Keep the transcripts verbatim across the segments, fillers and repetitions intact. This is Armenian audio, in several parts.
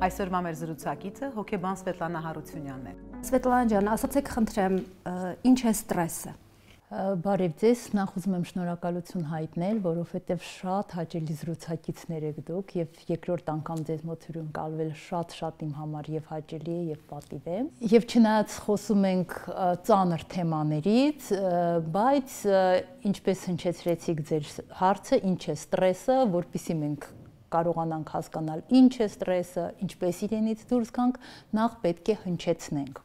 Այսօրվա մեր զրուցակիցը հոգեբան Սվետլանա Հարությունյանն է։ Սվետլանա ջան, ասացեք խնդրեմ, ինչ է ստրեսը։ Բարև ձեզ, նախ ուզում եմ շնորհակալություն հայտնել, որովհետև շատ հաճելի զրուցակիցներ եք դուք եւ երկրորդ անգամ ձեզ մոտ հյուրընկալվել շատ-շատ իմ համար եւ հաճելի է եւ պատիվ է։ Եվ չնայած խոսում ենք ծանր թեմաներից, բայց ինչպես հնչեցրեցիք ձեր հարցը, ինչ է ստրեսը, որպեսզի մենք կարողանանք հասկանալ ինչ է ստրեսը, ինչպես իրենից դուրս գանք, նախ պետք է հնչեցնենք։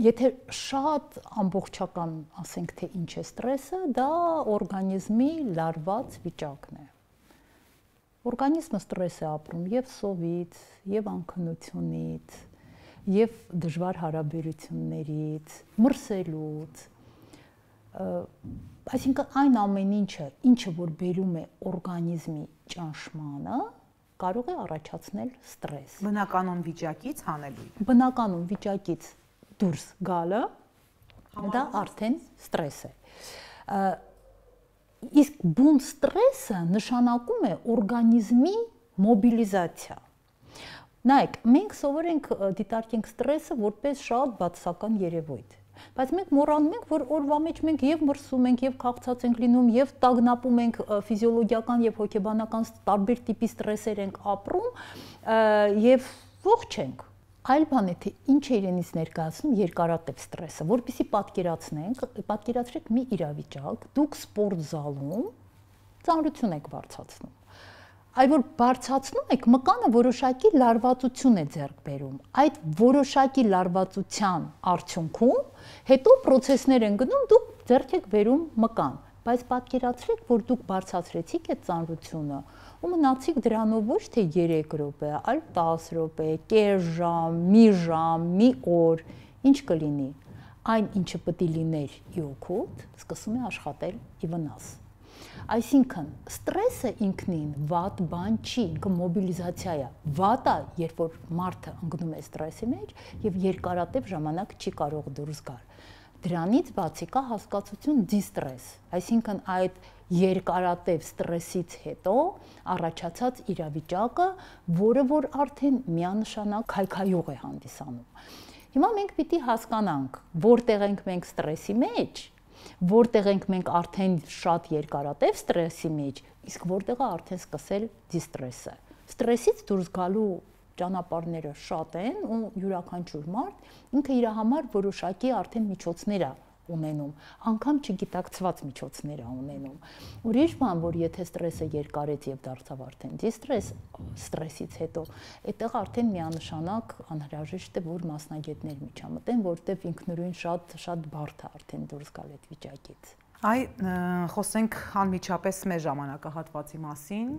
Եթե շատ ամբողջական ասենք թե ինչ է ստրեսը, դա օրգանիզմի լարված վիճակն է։ Օրգանիզմը ստրես է ապրում եւ սովից, եւ անքնությունից, եւ դժվար հարաբերություններից, մրսելուց, այսինքն այն ամեն ինչը, ինչը որ բերում է օրգանիզմի ճնշմանը, կարող է առաջացնել ստրես։ Բնականon վիճակից հանելույթ։ Բնականon վիճակից դուրս գալը դա արդեն ստրես է։ Իսկ բուն ստրեսը նշանակում է օրգանիզմի մոբիլիզացիա։ Նայեք, մենք սովորենք դիտարկենք ստրեսը որպես շատ բացասական երևույթ։ Բայց մենք մոռանում ենք, որ օրվա մեջ մենք եւ մրսում ենք, եւ քաղցած ենք լինում, եւ տագնապում ենք ֆիզիոլոգիական եւ հոգեբանական տարբեր տիպի ստրեսեր ենք ապրում եւ ողջ ենք։ Այլ բան է, թե ինչ է իրենից ներկայացնում երկարատև ստրեսը, որպեսզի պատկերացնենք, պատկերացրեք մի իրավիճակ, դուք սպորտ զալում ծանրություն եք բարձրացնում։ Այլ որ բարձրացնում եք, մկանը որոշակի լարվածություն է ձեռք բերում։ Այդ որոշակի լարվածության արդյունքում հետո process-ներ են գնում, դուք ձեռք եք բերում մկան, բայց պատկերացրեք, որ դուք բարձրացրեցիք այդ ծանրությունը ու մնացիք դրանով ոչ թե երեք րոպե, այլ տասը րոպե, կես ժամ, մի ժամ, մի օր, ինչ կլինի։ Այն ինչը պետք է լիներ ի օգուտ, սկսում է աշխատել ի վնաս։ Այսինքն, ստրեսը ինքնին վատ բան չի, ինքը մոբիլիզացիա է։ Վատը, երբ որ մարդը ընկնում է ստրեսի մեջ եւ երկարատև ժամանակ չի կարող դուրս գալ։ Դրանից բացի կա հասկացություն դիստրես, այսինքն այդ երկարատև ստրեսից հետո առաջացած իրավիճակը, որը որ արդեն միանշանակ քայքայող է հանդիսանում։ Հիմա մենք պիտի հասկանանք, որտեղ ենք մենք ստրեսի մեջ, որտեղ ենք մենք արդեն շատ երկարատև ստրեսի մեջ, իսկ որտեղ է արդեն սկսել դիստրեսը։ Ստրեսից դուրս գալու ճանապարհները շատ են ու յուրաքանչյուր մարդ ինքը իր համար որոշակի արդեն միջոցներ է ունենում, անգամ չգիտակցված միջոցներ է ունենում։ Ուրիշ բան, որ եթե ստրեսը երկարեց եւ դարձավ արդեն դիստրես, ստրեսից հետո, այդտեղ արդեն միանշանակ անհրաժեշտ է, որ մասնագետներ միջամտեն, որտեղ ինքնուրույն շատ շատ բարդ է արդեն դուրս գալ այդ վիճակից։ Այ խոսենք անմիջապես մեր ժամանակահատվածի մասին,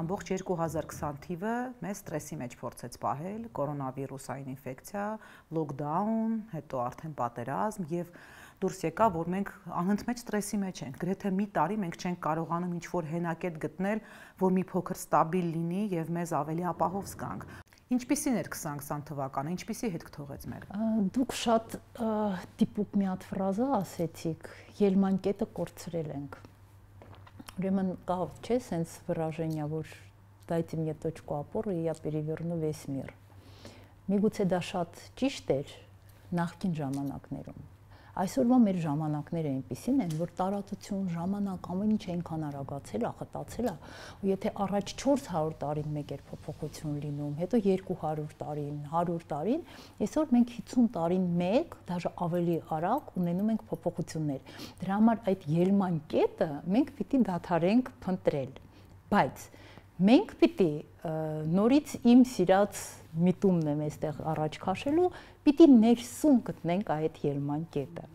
ամբողջ երկու հազար քսան թիվը մեզ ստրեսի մեջ փորձեց պահել, կորոնավիրուսային ինֆեկցիա, լոկդաուն, հետո արդեն պատերազմ եւ դուրս եկա, որ մենք անընդմեջ ստրեսի մեջ ենք, գրեթե մի տարի մենք չենք կարողանում ինչ-որ հենակետ գտնել, որ մի փոքր ստաբիլ լինի եւ մեզ ավելի ապահով զգանք։ Ինչպիսին էր քսան քսան թվականը, ինչպիսի հետ կթողեց մեր։ Դուք շատ տիպուկ մի հատ ֆրազա ասեցիք, ելման կետը կորցրել ենք։ Ուրեմն կա, չէ, սենց выражение, որ дайте мне точку опоры, и я переверну весь мир։ Միգուցե դա շատ ճիշտ էր նախկին ժամանակներում։ Այսօրվա մեր ժամանակները այնպիսին են, որ տարածություն, ժամանակ, ամեն ինչ այնքան արագացել է, խտացել է, ու եթե առաջ չորս հարյուր տարին մեկ էր փոփոխություն լինում, հետո երկու հարյուր տարին, հարյուր տարին, այսօր մենք հիսուն տարին մեկ, դաժե ավելի արագ ունենում ենք փոփոխություններ։ Դրա համար այդ ելման կետը մենք պիտի դադարենք փնտրել, բայց մենք պիտի նորից իմ սիրած միտումն եմ այստեղ առաջ քաշելու, պիտի ներսում գտնենք այդ ելման կետը։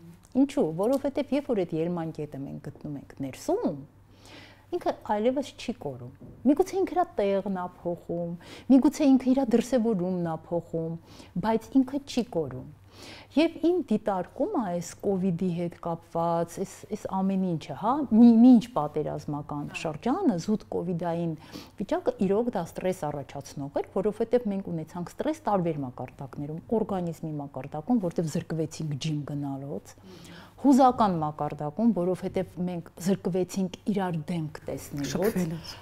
Ինչու՞, որովհետև երբ որ այդ ելման կետը մենք գտնում ենք ներսում, ինքը այլևս չի կորում։ Միգուցե ինքը իր տեղն է փոխում, միգուցե ինքը իր դրսևորումն է փոխում, բայց ինքը չի կորում։ Եվ իմ դիտարկումը այս կովիդի հետ կապված, այս այս ամեն ինչը, հա, մինչ պատերազմական շրջանը, զուտ կովիդային վիճակը իրոք դա ստրես առաջացնող էր, որովհետև մենք ունեցանք ստրես տարբեր մակարդակներում, օրգանիզմի մակարդակում, որտեղ զրկվեցինք ջիմ գնալուց, հուզական մակարդակում, որովհետև մենք զրկվեցինք իրար դեմք տեսնելուց,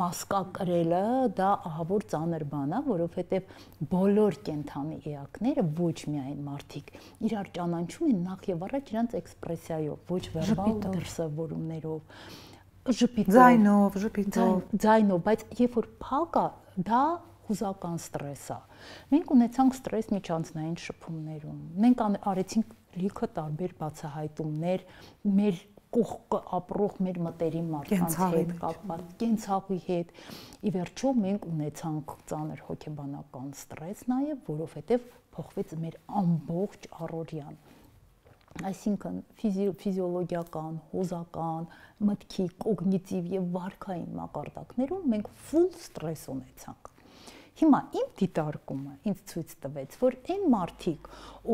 մասկա կրելը դա ահավոր ծանր բան է, որովհետև բոլոր կենդանի էակները ոչ միայն մարդիկ իրար ճանաչում են նախ եւ առաջ իրանց էքսպրեսիայով, ոչ վերբալ դրսևորումներով, ժպիտով, ձայնով, ժպիտով, ձայնով, բայց երբ որ փակ է, դա հուզական ստրես է։ Մենք ունեցանք ստրես միջանցնային շփումներում։ Մենք արեցինք լիքը տարբեր բացահայտումներ մեր կողքը ապրող մեր մտերիմ մարդկանց հետ կապված, կենցաղի հետ։ Ի վերջո մենք ունեցանք ծանր հոգեբանական ստրես նաև, որովհետև փոխվեց մեր ամբողջ առօրյան։ Այսինքն ֆիզիոլոգիական, հուզական, մտքի, կոգնիտիվ եւ վարքային մակարդակներում մենք full ստրես ունեցանք։ Հիմա իմ դիտարկումը ինձ ցույց տվեց, որ այն մարդիկ,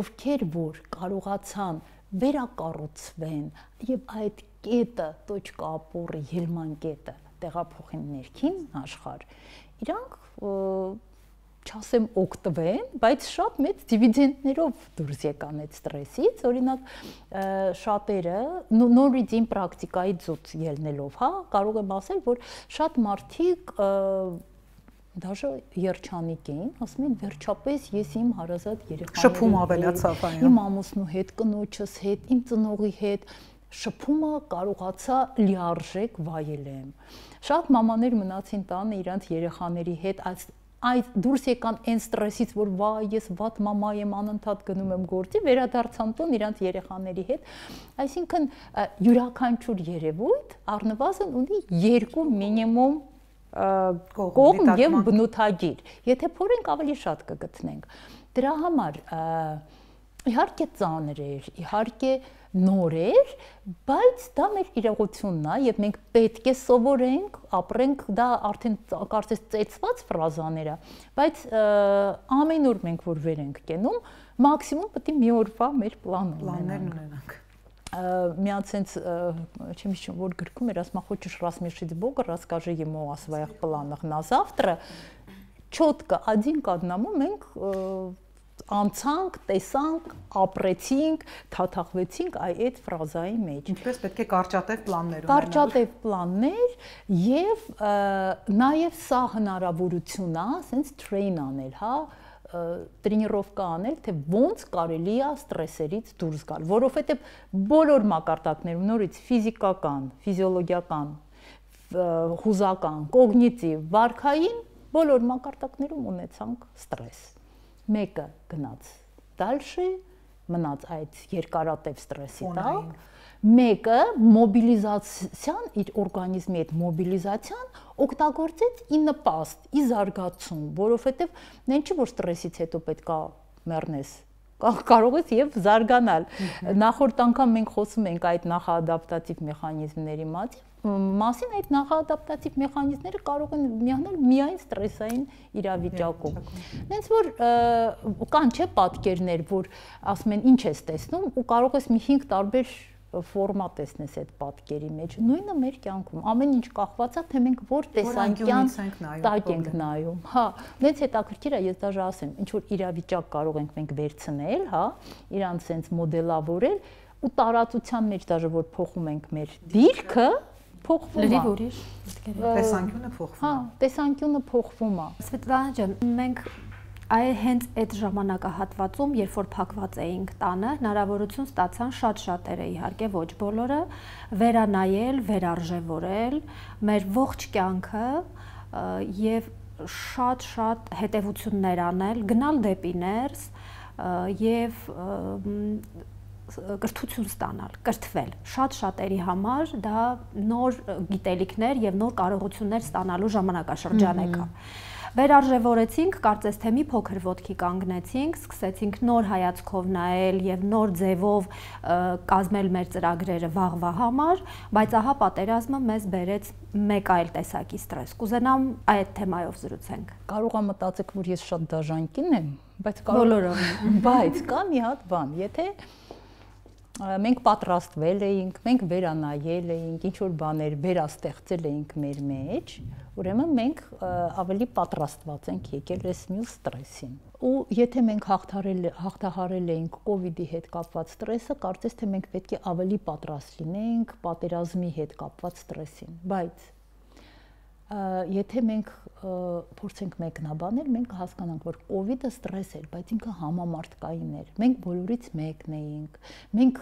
ովքեր որ կարողացան վերակառուցվեն եւ այդ կետը, точка опоры, ելման կետը տեղափոխեն ներքին աշխարհ, իրանք չասեմ օգտվեն, բայց շատ մեծ դիվիդենդներով դուրս եկան այդ ստրեսից, օրինակ շատերը նորից իմ պրակտիկայի ծուց ելնելով, հա, կարող եմ ասել, որ շատ մարդիկ Դաժե երջանիկ էին, ասում են վերջապես ես իմ հարազատ երեխաների շփում ավելացավ այն։ Իմ ամուսնու հետ, կնոջս հետ, իմ ծնողի հետ շփումը կարողացա լիարժեք վայելեմ։ Շատ մամաներ մնացին տանը իրանց երեխաների հետ, այս դուրս եկան այն ստրեսից, որ վայ, ես վատ մամա եմ, անընդհատ գնում եմ գործի, վերադարձան տուն իրանց երեխաների հետ։ Այսինքն յուրաքանչյուր երևույթ առնվազն ունի երկու մինիմում կողմ եւ բնութագիր։ Եթե փորենք ավելի շատ կգտնենք։ Դրա համար իհարկե ծանր էր, իհարկե նոր էր, բայց դա մեր իրողությունն է եւ մենք պետք է սովորենք, ապրենք, դա արդեն կարծես ծեծված ֆրազաներ է, բայց ամեն օր մենք որ վեր ենք կենում, մաքսիմում պետք է մի օրվա մեր պլան ունենանք։ Միած sense, чем еще вот գրքում էր, ասма хочешь рассмешить Бога, расскажи ему о своих планах на завтра. Четко один к одному մենք անցանք, տեսանք, ապրեցինք, թաթախվեցինք այդ ֆրազայի մեջ։ Ինչպես պետք է կարճատև պլաններ ունենալ։ Կարճատև պլաններ եւ նաեւ սա հնարավորություն է, sense train անել, հա, տրենիրովկա անել, թե ոնց կարելի է ստրեսերից դուրս գալ, որովհետև բոլոր մակարդակներում նորից ֆիզիկական, ֆիզիոլոգիական, հուզական, կոգնիտիվ, վարքային բոլոր մակարդակներում ունեցանք ստրես։ Մեկը գնաց դալշի, մնաց այդ երկարատև ստրեսի տակ, մեկը մոբիլիզացիան, իր օրգանիզմի այդ մոբիլիզացիան օգտագործեց ի նպաստ, ի զարգացում, որովհետև նեն չի որ ստրեսից հետո պետք է մեռնես, կարող ես եւ զարգանալ։ Նախորդ անգամ մենք խոսում ենք այդ նախադապտատիվ մեխանիզմների մասին, այդ նախադապտատիվ մեխանիզմները կարող են միանալ միայն ստրեսային իրավիճակում։ Հենց որ կան չէ պատկերներ, որ ասում են ինչ ես տեսնում ու կարող ես մի հինգ տարբեր ֆորմա տեսնես այդ պատկերի մեջ, նույնը մեր կյանքում, ամեն ինչ կախված է, թե մենք որ տեսանկյան տակ ենք նայում, հա, նենց հետաքրքիր է, ես դաժե ասեմ, ինչ որ իրավիճակ կարող ենք մենք վերցնել, հա, իրանց sense մոդելավորել ու տարածության մեջ դաժե որ փոխում ենք մեր դիրքը, փոխվում է։ Լրիվ ուրիշ տեսանկյունը փոխվում է։ Հա, տեսանկյունը փոխվում է։ Սվետլանա ջան, մենք Այ հենց այդ ժամանակահատվածում, երբ որ փակված էինք տանը, հնարավորություն ստացան շատ շատերը, իհարկե ոչ բոլորը, վերանայել, վերարժևորել մեր ողջ կյանքը եւ շատ-շատ հետևություններ անել, գնալ դեպի ներս եւ կրթություն ստանալ, կրթվել։ Շատ շատերի համար դա նոր գիտելիքներ եւ նոր կարողություններ ստանալու ժամանակաշրջան եկա։ Վերարժևորեցինք, կարծես թե մի փոքր ոտքի կանգնեցինք, սկսեցինք նոր հայացքով նայել եւ նոր ձևով կազմել մեր ծրագրերը վաղվա համար, բայց ահա պատերազմը մեզ բերեց մեկ այլ տեսակի ստրես։ Կուզենամ այդ թեմայով զրուցենք։ Կարող եմ մտածեք, որ ես շատ դաժան եմ, բայց բոլորը, բայց կա մի հատ բան, եթե մենք պատրաստվել էինք, մենք վերանայել էինք, ինչ որ բաներ վերաստեղծել էինք մեր մեջ, ուրեմն մենք ավելի պատրաստված ենք եկել այս մյուս ստրեսին։ ու եթե մենք հաղթարել հաղթահարել էինք կովիդի հետ կապված ստրեսը, կարծես թե մենք պետք է ավելի պատրաստ լինենք պատերազմի հետ կապված ստրեսին, բայց եթե մենք փորձենք մեկնաբանել, մենք կհասկանանք, որ կովիդը ստրես էր, բայց ինքը համամարտկային էր։ Մենք բոլորից մեկն էինք, մենք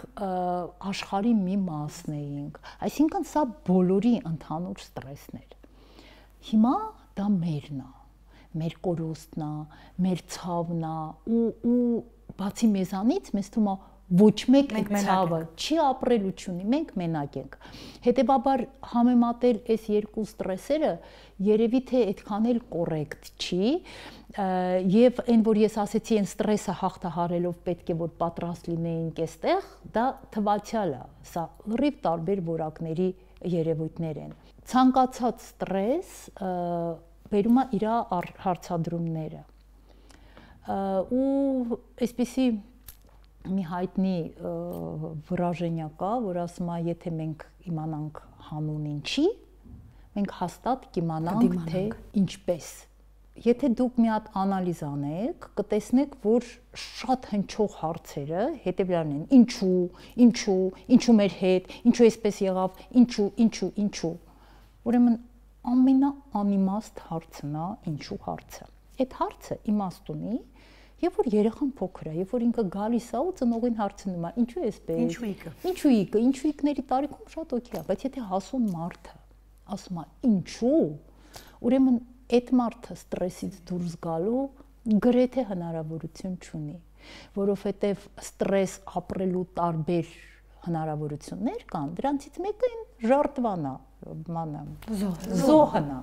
աշխարհի մի մասն էինք, այսինքն սա բոլորի ընդհանուր ստրեսն էր։ Հիմա դա մերն է, մեր կորուստն է, մեր ցավն է, ու ու բացի մեզանից մեզ թվում է ոչ մեկ այդ ցավը չի ապրելու չունի, մենք մենակ ենք։ Հետևաբար համեմատել այս երկու ստրեսերը երևի թե այդքան էլ կոռեկտ չի, եւ այն որ ես ասեցի, այն ստրեսը հաղթահարելով պետք է որ պատրաստ լինեինք այստեղ, դա թվացial է, սա լրիվ տարբեր որակների երևույթներ են։ Ցանկացած ստրես բերում է իր հարցադրումները։ Ու այսպիսի մի հայտնի վրաժենյա կա, որ ասում է, եթե մենք իմանանք հանուն ինչի, մենք հաստատ կիմանանք թե ինչպես։ Եթե դուք մի հատ անալիզ անեք, կտեսնեք, որ շատ հնչող հարցերը հետևյալն են. ինչու, ինչու, ինչու մեր հետ, ինչու այսպես եղավ, ինչու, ինչու, ինչու։ Ուրեմն ամենաանիմաստ հարցն է ինչու հարցը։ Այդ հարցը իմաստ ունի, երբ որ երեխան փոքր է, երբ որ ինքը գալիս է ու ծնողին հարցնում է, ինչու էսպես։ Ինչու իկը։ Ինչու իկը, ինչու իկների տարիքում շատ օքեյ է, բայց եթե հասուն մարդը ասում է ինչու, ուրեմն այդ մարդը ստրեսից դուրս գալու գրեթե հնարավորություն չունի, որովհետև ստրես ապրելու տարբեր հնարավորություններ կան, դրանցից մեկը այն ժարտվանա, մանա, զոհն է։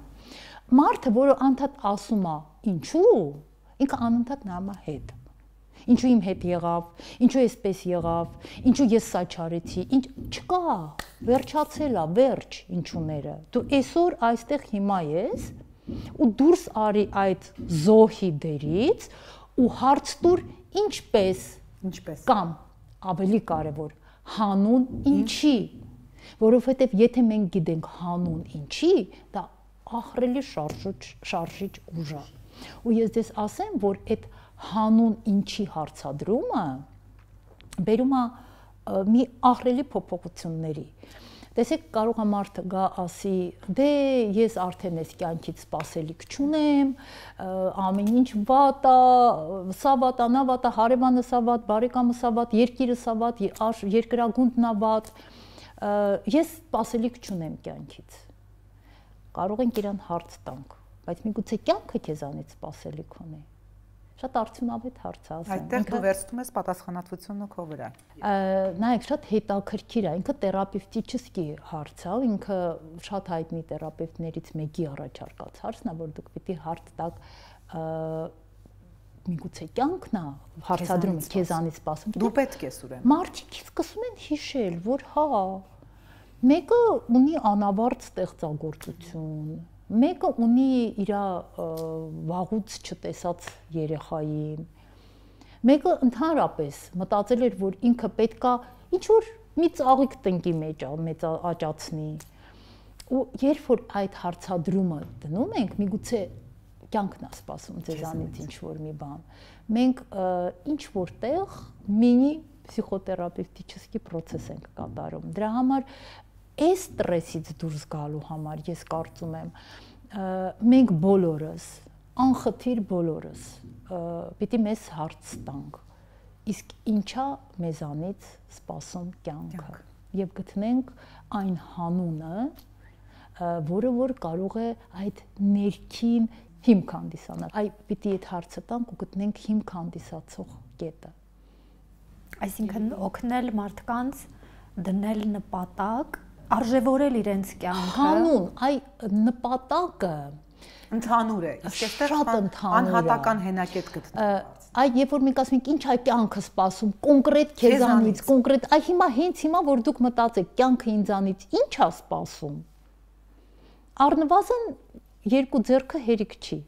Մարդը, որը անդադ ասում է ինչու, ինքը անընդհատ նայում է հետ։ Ինչու իմ հետ եղավ, ինչու էսպես եղավ, ինչու ես սա չարեցի, ինչ չկա, վերջացել է, վերջ ինչուները։ Դու այսօր այստեղ հիմա ես ու դուրս արի այդ զոհի դերից ու հարց տուր ինչպես, ինչպես կամ ավելի կարևոր հանուն ինչի, որովհետև եթե մենք գիտենք հանուն ինչի, դա ահռելի շարժիչ շարժիչ ուժ է։ Ու ես դες ասեմ, որ այդ հանուն ինչի հարցադրումը բերում է մի ահռելի փոփոխությունների։ Տեսեք, կարող է մարդը գա ասի, դե ես արդեն այս կյանքից սպասելիք չունեմ, ամեն ինչ վատ է, սա վատ է, նա վատ է, հարևանը սա վատ, բարեկամը սա վատ, երկիրը սա վատ, երկրագունդն է վատ, ես սպասելիք չունեմ կյանքից։ Կարող ենք իրան հարց տանք, բայց միգուցե կյանքը քեզանից սպասելիք ունի։ Շատ արդյունավետ հարց է ասեմ։ Այդտեղ դու վերցնում ես պատասխանատվությունը քո վրա։ Նայեք, շատ հետաքրքիր է, ինքը թերապևտիչեսկի հարց է, ինքը շատ հայտնի թերապևտներից մեկի առաջարկած հարցն է, որ դուք պիտի հարց տաք միգուցե կյանքն է հարցադրումը քեզանից սպասում։ Դու պետք ես ուրեմն։ Մարդիկ սկսում են հիշել, որ հա, մեկը ունի անավարտ ստեղծագործություն, մեկը ունի իր վաղուց չտեսած երեխային, մեկը ընդհանրապես մտածել էր, որ ինքը պետքա ինչ որ մի ծաղիկ տնկի մեջ մեծ աճացնի։ Ու երբ որ այդ հարցադրումը դնում ենք, միգուցե կյանքն է սպասում ձեզանից ինչ որ մի բան։ Մենք ինչ որտեղ մինի պսիխոթերապևտիչեսկի process ենք կատարում։ Դրա համար այս ստրեսից դուրս գալու համար ես կարծում եմ մենք բոլորս, անխտիր բոլորս պիտի մեզ հարց տանք, իսկ ինչա մեզանից սպասում կյանքը եւ գտնենք այն հանունը, որը որ կարող է այդ ներքին հիմք հանդիսանալ։ Այ պիտի այդ հարցը տանք ու գտնենք հիմք հանդիսացող կետը։ Այսինքն օգնել մարդկանց դնել նպատակ, արժևորել իրենց կյանքը։ Հանուն, այ նպատակը ընդհանուր է, իսկ այստեղ անհատական հենակետ գտնվում։ Այ երբ որ մենք ասում ենք ինչ այ կյանքը սպասում, կոնկրետ քեզանից, կոնկրետ, այ հիմա հենց հիմա որ դուք մտածեք, կյանքը ինձանից ինչ է սպասում։ Առնվազն երկու ձեռքը հերիք չի։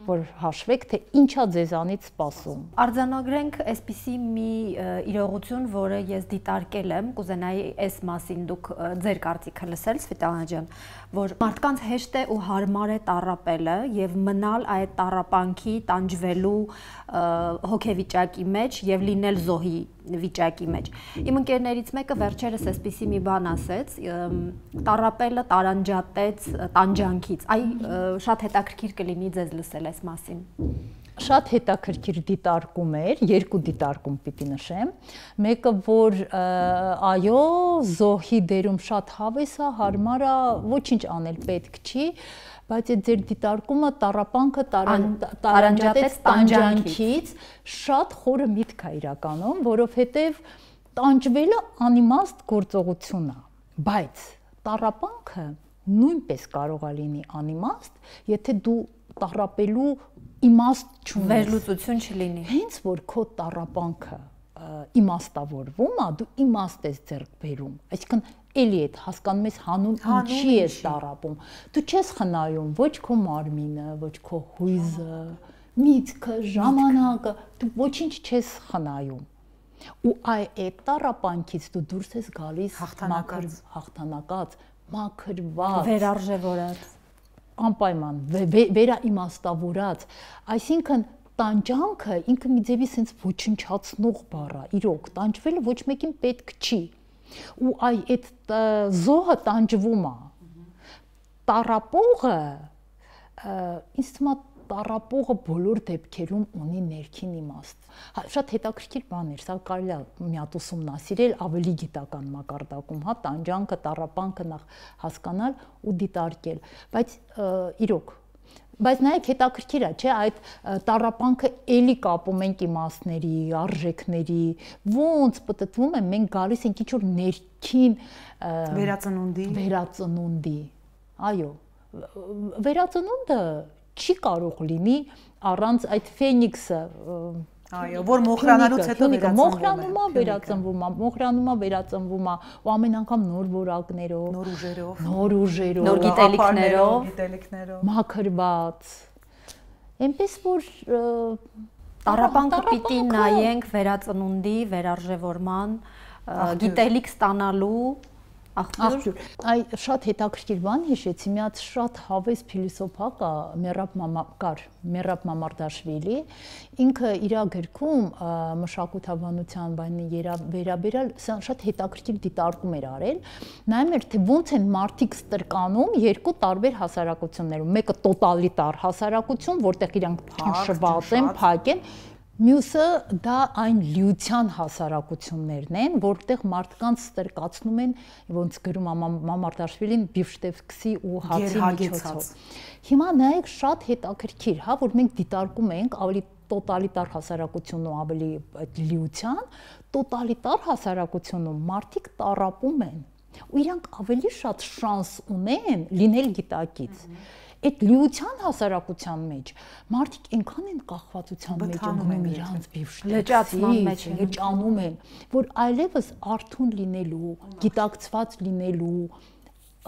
որ հաշվեք, թե ինչա ձեզանից սպասում։ Արձանագրենք այսպիսի մի իրողություն, որը ես դիտարկել եմ, կուզենայի այս մասին դուք ձեր կարծիքը լսել, Սվետլանա ջան, որ մարդկանց հեշտ է ու հարմար է տառապելը եւ մնալ այդ տառապանքի, տանջվելու հոգեվիճակի մեջ եւ լինել զոհի վիճակի մեջ։ Իմ ընկերներից մեկը վերջերս այսպիսի մի բան ասեց, տառապելը տարանջատեց տանջանքից։ Այ շատ հետաքրքիր կլինի ձեզ լսել այս մասին։ Շատ հետաքրքիր դիտարկում էր, երկու դիտարկում պիտի նշեմ։ Մեկը, որ այո, զոհի դերում շատ հավես է, հարմար է, ոչինչ անել պետք չի, բայց այդ ձեր դիտարկումը տառապանքը տարանջատեց տանջանքից շատ խորը միտք է իրականում, որովհետև տանջվելը անիմաստ գործողություն է, բայց տառապանքը նույնպես կարող է լինի անիմաստ, եթե դու տառապելու իմաստ չունես, վերլուծություն չլինի։ Հենց որ քո տառապանքը իմաստավորվում է, դու իմաստ ես ձեռք բերում, այսինքն էլի այդ հասկանում ես հանուն ինչի ես տառապում։ Դու չես խնայում ոչ քո մարմինը, ոչ քո հույզը, միտքը, ժամանակը, դու ոչինչ չես խնայում։ Ու այդ տառապանքից դու դուրս ես գալիս հաղթանակած, հաղթանակած, մաքրված, վերարժևորած, անպայման վերաիմաստավորած, այսինքն տանջանքը ինքը մի ձևի sense ոչնչացնող բառ է, իրոք, տանջվելը ոչ մեկին պետք չի։ Ու այ այդ զոհը տանջվում է։ Տառապողը, ինձ թվում է տառապողը բոլոր դեպքերում ունի ներքին իմաստ։ Շատ հետաքրքիր բան էր, սա կարելի է մի հատ ուսումնասիրել ավելի գիտական մակարդակում, հա, տանջանքը, տառապանքը նախ հասկանալ ու դիտարկել, բայց իրոք, բայց նայեք հետաքրքիր է, չէ, այդ տառապանքը էլի կապում ենք իմաստների, արժեքների, ոնց պտտվում է, մենք գալիս ենք ինչ-որ ներքին վերածնունդի, վերածնունդի, այո, վերածնունդը չի կարող լինի առանց այդ ֆենիքսը, այո, որ մոխրանալուց հետո մոխրանում է, վերածնվում է, մոխրանում է, վերածնվում է, ու ամեն անգամ նոր որակներով, նոր ուժերով, նոր ուժերով, նոր գիտելիքներով, գիտելիքներով, մաքրված, այնպես որ տառապանքը պիտի նայենք վերածնունդի, վերարժևորման, գիտելիք ստանալու աղբյուր։ Այ շատ հետաքրքիր բան հիշեցի, մի հատ շատ հավես փիլիսոփա կա, Մերապ Մամակար, Մերապ Մամարդաշվիլի, ինքը իր գրքում մշակութաբանության բանի վերաբերյալ շատ հետաքրքիր դիտարկում էր արել, նայում էր, թե ոնց են մարդիկ ստրկանում երկու տարբեր հասարակություններում, մեկը տոտալիտար հասարակություն, որտեղ իրանք փաշված են, փակ են, մյուսը դա այն լիության հասարակություններն են, որտեղ մարդկանց ստրկացնում են, ոնց գրում է Մամարդաշվիլին, բիֆշտեվսկի ու հացի միջոցով։ Հիմա նայեք շատ հետաքրքիր, հա, որ մենք դիտարկում ենք ավելի տոտալիտար հասարակությունն ու ավելի այդ լիության, տոտալիտար հասարակությունում մարդիկ տառապում են, ու իրանք ավելի շատ շանս ունեն լինել գիտակից։ Այդ լիության հասարակության մեջ մարդիկ այնքան են կախվածության մեջ ընկնում իրանց լճացման մեջ, լճանում են, որ այլևս արթուն լինելու, գիտակցված լինելու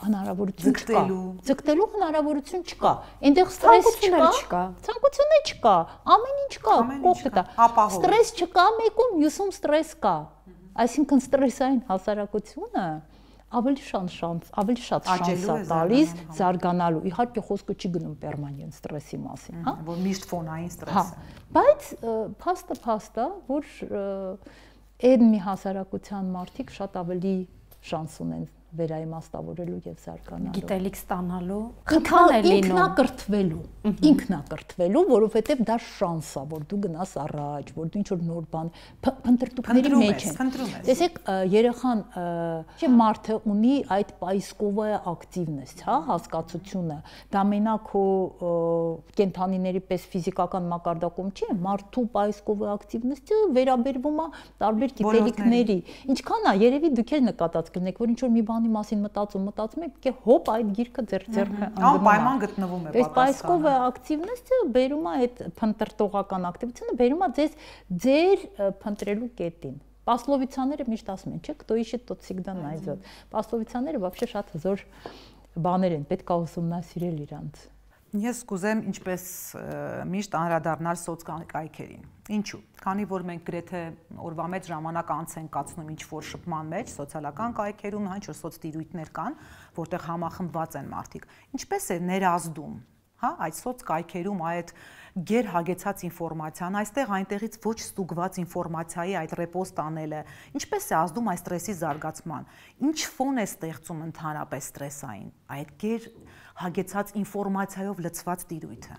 հնարավորություն չկա, ձգտելու հնարավորություն չկա, այնտեղ ստրես չկա, ցանկություններ չկա, ամեն ինչ կա, կողքդ է, ստրես չկա մեկում, մյուսում ստրես կա, այսինքն ստրեսային հասարակությունը ավելի շատ շանս, ավելի շատ շանս է տալիս զարգանալու։ Իհարկե խոսքը չի գնում պերմանենտ ստրեսի մասին, հա, որ միշտ ֆոնային ստրես է։ Բայց փաստը փաստ է, որ այդ մի հասարակության մարդիկ շատ ավելի շանս ունեն վերաիմաստավորելու եւ զարգանալու, գիտելիք ստանալու, ինքան է լինում, ինքնակրթվելու, ինքնակրթվելու, որովհետեւ դա շանս է, որ դու գնաս առաջ, որ դու ինչ-որ նոր բան փնտրտուքների մեջ ես։ Տեսեք, երեխան, չէ, մարդը ունի այդ պայսկովը ակտիվնեստ, հա, հասկացությունը, դա մենակ հո կենթանիների պես ֆիզիկական մակարդակում չի, մարդու պայսկովը ակտիվնեստը վերաբերվում է տարբեր գիտելիքների։ Ինչքան է, երևի դուք էլ նկատած կլինեք, որ ինչ-որ մի բան մասին մտածում, մտածում եք, કે հոպ այդ գիրքը ձեր ձեռքը ընկնում է։ Անպայման գտնվում է պատասխանը։ Այս պայսկովը ակտիվնեսը բերում է այդ փնտրտողական ակտիվությունը, բերում է ձեզ ձեր փնտրելու կետին։ Պասլովիցաները միշտ ասում են, չէ՞, кто ищет, тот всегда найдет։ Պասլովիցաները вообще շատ հզոր բաներ են, պետք է ուսումնասիրել իրանց։ Ես կուզեմ ինչպես միշտ անդրադառնալ սոցկայքերին։ Ինչու՞։ Քանի որ մենք գրեթե օրվա մեջ ժամանակ անց ենք կացնում ինչ-որ շփման մեջ, սոցիալական կայքերում, ինչ-որ սոցտիրույթներ կան, որտեղ համախմբված են մարդիկ։ Ինչպես է ներազդում, հա, այդ սոցկայքերում այդ գերհագեցած ինֆորմացիան, այստեղ այնտեղից ոչ ստուգված ինֆորմացիայի այդ ռեպոստ անելը, ինչպես է ազդում այս ստրեսի զարգացման։ Ինչ ֆոն է ստեղծում ընդհանրապես ստրեսային, այդ գեր հագեցած ինֆորմացիայով լցված տիրույթը։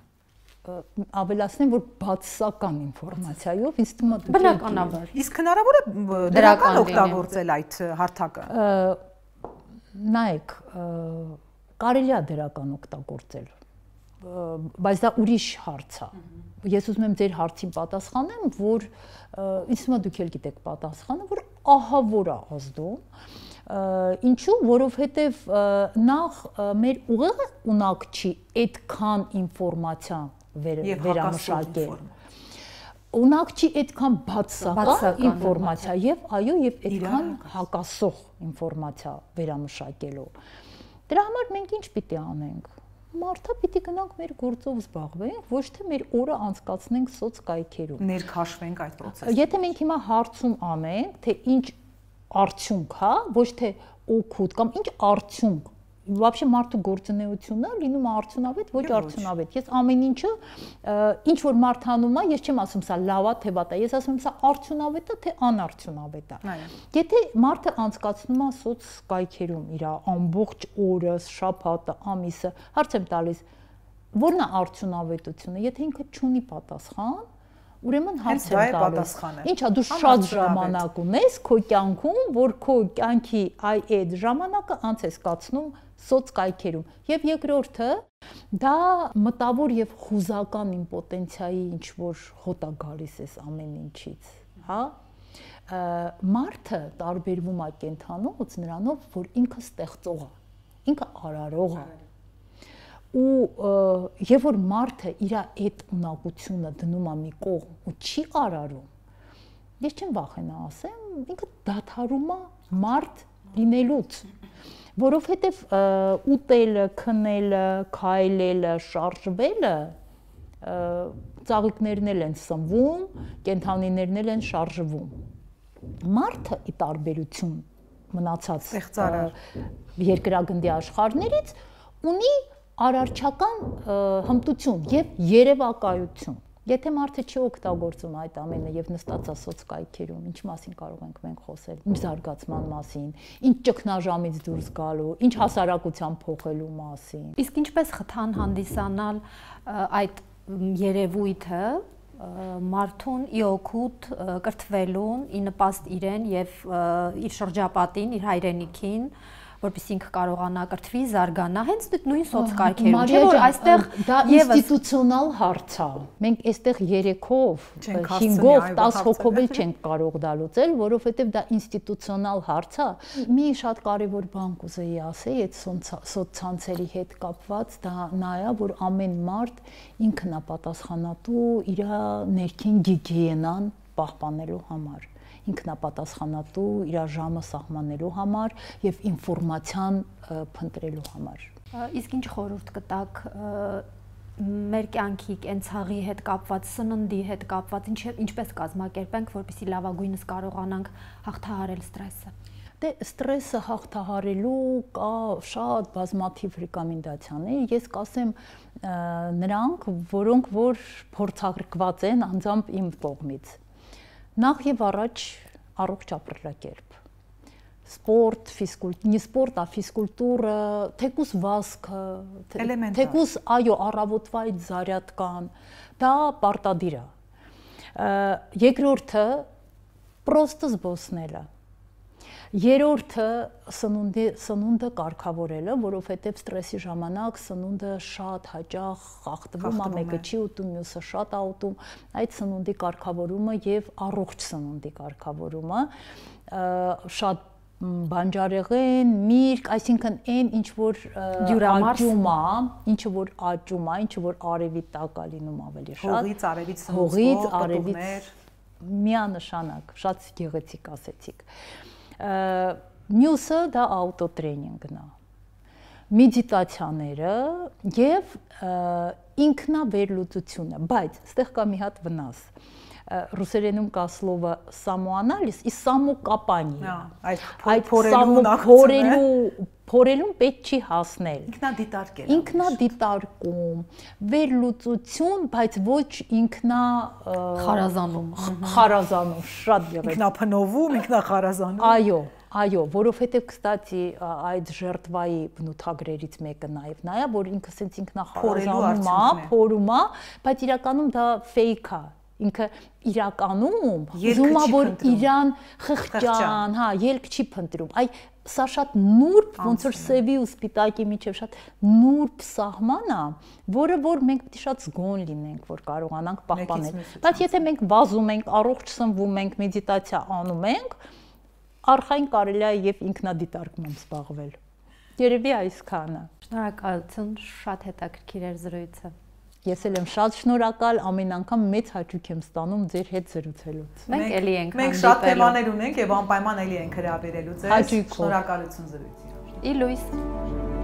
Ավելացնեմ, որ բացասական ինֆորմացիայով ինձ թվում է բնականաբար։ Իսկ հնարավոր է դրական օգտագործել այդ հարթակը։ Նայեք, կարելի է դրական օգտագործել, բայց դա ուրիշ հարց է։ Ես ուզում եմ ձեր հարցին պատասխանեմ, որ ինձ թվում է դուք էլ գիտեք պատասխանը, որ ահա որ է ազդում։ Ինչու, որովհետև նախ մեր ուղիղ ունակչի այդքան ինֆորմացիա վերամշակել։ Ունակչի այդքան բացասական ինֆորմացիա եւ այո, եւ այդքան հակասող ինֆորմացիա վերամշակելու։ Դրա համար մենք ինչ պիտի անենք։ Մարդը պիտի գնանք մեր գործով զբաղվենք, ոչ թե մեր օրը անցկացնենք սոցկայքերում։ Ներքաշվենք այդ process-ը։ Եթե մենք հիմա հարցում անենք, թե ինչ արդյունք, հա, ոչ թե օգուտ կամ ինչ արդյունք, вообще մարդու գործունեությունը լինում է արդյունավետ, ոչ արդյունավետ։ Ես ամեն ինչը ինչ որ մարդ անում է, ես չեմ ասում սա լավ է, թե վատ է, ես ասում եմ սա արդյունավետ է, թե անարդյունավետ է։ Եթե մարդը անցկացնում է սոցկայքերում իր ամբողջ օրը, շաբաթը, ամիսը, հարց եմ տալիս, ո՞րն է արդյունավետությունը, եթե ինքը չունի պատասխան, ուրեմն հարց եմ տալիս։ Ինչա դու շատ ժամանակ ունես քո կյանքում, որ քո կյանքի այդ ժամանակը անց ես կացնում սոցկայքերում։ Եվ երկրորդը դա մտավոր եւ խուզական իմպոտենցիայի ինչ որ հոտ է գալիս էս ամեն ինչից, հա։ Մարդը տարբերվում է կենթանուց նրանով, որ ինքը ստեղծող է, ինքը արարող է։ Ու եւ որ մարդը իր այդ ունակությունը դնում է մի կողմ ու չի արարում, ես չեմ վախենա ասեմ, ինքը դադարում է մարդ լինելուց, որովհետեւ ուտելը, քնելը, քայլելը, շարժվելը ծաղիկներն էլ են սնվում, կենթանիներն էլ են շարժվում։ Մարդը ի տարբերություն մնացած երկրագնդի աշխարհներից ունի արարչական հմտություն եւ երևակայություն։ Եթե մարդը չի օգտագործում այդ ամենը եւ նստած է սոցկայքերում, ինչ մասին կարող ենք մենք խոսել, ինչ զարգացման մասին, ինչ ճգնաժամից դուրս գալու, ինչ հասարակության փոխելու մասին։ Իսկ ինչպես խթան հանդիսանալ այդ երևույթը մարդուն ի օգուտ կրթվելուն, ի նպաստ իրեն եւ իր շրջապատին, իր հայրենիքին, որպեսզի ինքը կարողանա կրթվի, զարգանա, հենց նույն սոցկայքերում, չէ՞ որ այստեղ դա ինստիտուցիոնալ հարց է։ Մենք այստեղ երեքով, հինգով, տաս հոգով էլ չենք կարող դա լուծել, որովհետև դա ինստիտուցիոնալ հարց է։ Մի շատ կարևոր բան կուզեի ասել այդ սոցցանցերի հետ կապված, դա նա է, որ ամեն մարդ ինքն է պատասխանատու իր ներքին գիգիենան պահպանելու համար։ Ինքնապատասխանատու իր ժամը սահմանելու համար եւ ինֆորմացիան փնտրելու համար։ Իսկ ինչ խորհուրդ կտաք մեր կյանքի կենցաղի հետ կապված, սննդի հետ կապված, ինչպես կազմակերպենք, որպեսզի լավագույնս կարողանանք հաղթահարել ստրեսը։ Դե ստրեսը հաղթահարելու կա շատ բազմաթիվ ռեկոմենդացիաներ, ես կասեմ նրանք, որոնք որ փորձարկված են անձամբ իմ կողմից։ Նախ եւ առաջ առողջ ապրելակերպ, սպորտ, ֆիզկուլտուրա, не սպորտ, а ֆիզկուլտուրա, թեկուս վազքը, թեկուս այո, առավոտվա այդ զարյատկան, դա պարտադիր է։ Երկրորդը պրոստը զբոսնելը։ Երրորդը սնունդի սնունդը կարգավորելը, որովհետև ստրեսի ժամանակ սնունդը շատ հաճախ խախտվում է, մեկը չի ուտում, մյուսը շատ է ուտում, այդ սնունդի կարգավորումը եւ առողջ սնունդի կարգավորումը, շատ բանջարեղեն, միրգ, այսինքն այն ինչ որ աճում է, ինչը որ աճում է, ինչը որ արևի տակ է լինում ավելի շատ, հողից, արևից սնուցող, պտուղներ, միանշանակ, շատ գեղեցիկ ասեցիք։ Մյուսը դա աուտոտրեյնինգն է։ մեդիտացիաները եւ ինքնավերլուծությունը, բայց այստեղ կա մի հատ վնաս։ Ռուսերենում կա слово самоанализ и самокопание։ Այդ փորելու փորելուն պետք չի հասնել։ Ինքնադիտարկել։ Ինքնադիտարկում, վերլուծություն, բայց ոչ ինքնա խարազանում։ Խարազանում, շատ եղել։ Ինքնափնովում, ինքնախարազանում։ Այո, այո, որովհետև կստացի այդ ժերտվայի բնութագրերից մեկը նաև նա է, որ ինքը սենց ինքնախարազանում է, փորում է, բայց իրականում դա fake է։ Ինքը իրականում ուզում է որ իրան խղճան, հա, ելք չի փնտրում։ Այ սա շատ նուրբ, ոնց որ սևի ու սպիտակի միջև շատ նուրբ սահման է, որը որ մենք պետք է շատ զգոն լինենք, որ կարողանանք պահպանել։ Բայց եթե մենք վազում ենք, առողջ սնվում ենք, մեդիտացիա անում ենք, արխային կարելի է եւ ինքնադիտարկմամբ զբաղվել։ Երևի այսքանը։ Շնորհակալություն, շատ հետաքրքիր էր զրույցը։ Ես էլ եմ շատ շնորհակալ, ամեն անգամ մեծ հաճույք եմ ստանում ձեր հետ զրուցելուց։ Մենք էլի ենք Մենք շատ թեմաներ ունենք եւ անպայման էլի ենք հրավիրելու ձեզ։ Հաճույքով։ Շնորհակալություն զրույցի։ Ի լույս։